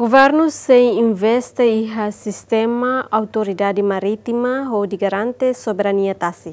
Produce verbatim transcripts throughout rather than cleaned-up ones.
Governu sei investe iha sistema autoridade marítima hodi garante soberania tasi.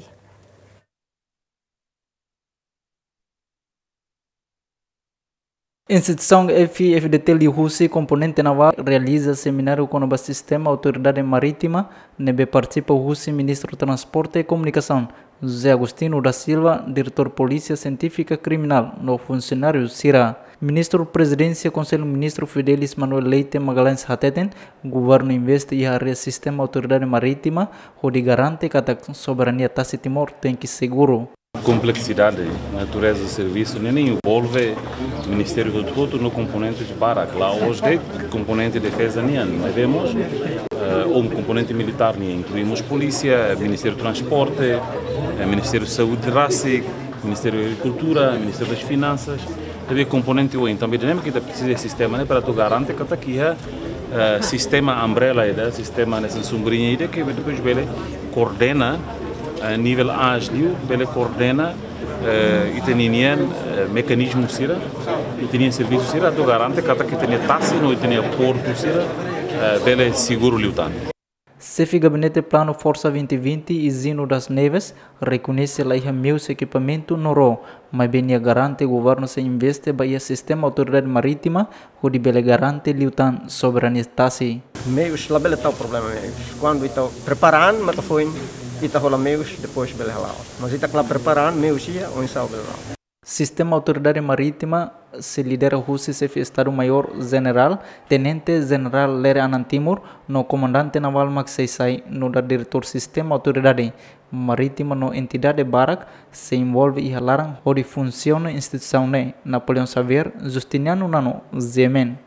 Instituisaun F I F D T liuhusi komponente navál realiza semináriu kona-ba sistema autoridade marítima, ne'ebé partisipa husi Ministru Transporte e Komunikasaun, José Agostinho da Silva, Diretór Polísia Sientífika Kriminál, no funsionáriu sira. Ministru Prezidénsia Konsellu Ministru Fidelis Manuel Leite Magalhães hateten, governu investe iha área sistema autoridade marítima, hodi garante katak soberania tasi Timor tenke seguru. Kompleksidade, natureza servisu, ne'e envolve ministériu hotu-hotu no komponente barak. La'ós de'it komponente defeza nian, mas vemos, eh, um komponente militár nian, inklui mós polísia, Ministériu Transporte, eh, Ministériu Saúde rasik, Ministériu Agrikultura, Ministériu das Finansas. Ne'ebé komponente oin, tanba ne'e mak ita presiza sistema ne'e para atu garante katak iha, eh, sistema umbrella ida, sistema hanesan sombriña ida ke depois bele koordena, eh, nivel ágil, bele koordena, eh, ita-nia, eh, mekanizmu sira, ita-nia servisu sira, atu garante katak ita-nia tasi no ita-nia portu sira, eh, bele seguru liután. Xefe Gabinete Planu Forsa vinte vinte, Izino das Neves, rekoñese la iha meius ekipamentu no ró, maibé nia garante governu sei investe ba iha sistema autoridade marítima, hodi bele garante liután soberania tasi. Meius labele tau problema meius. Kuandu ita prepara an, mak ita foin, ita hola meius, depois bele hala'o. Mas ita la prepara an, meius iha, oinsá bele hala'o. Sistema autoridade marítima sei lidera husi Xefe Estadu Maiór Jenerál, Tenente Jenerál Lere Anan Timur, no Komandante Navál mak sei sai nu'udar diretór sistema autoridade marítima no entidade barak sei envolve iha laran hodi funsiona instituisaun ne'e. Napoleão Xavier, Justiniano Nano, G M N.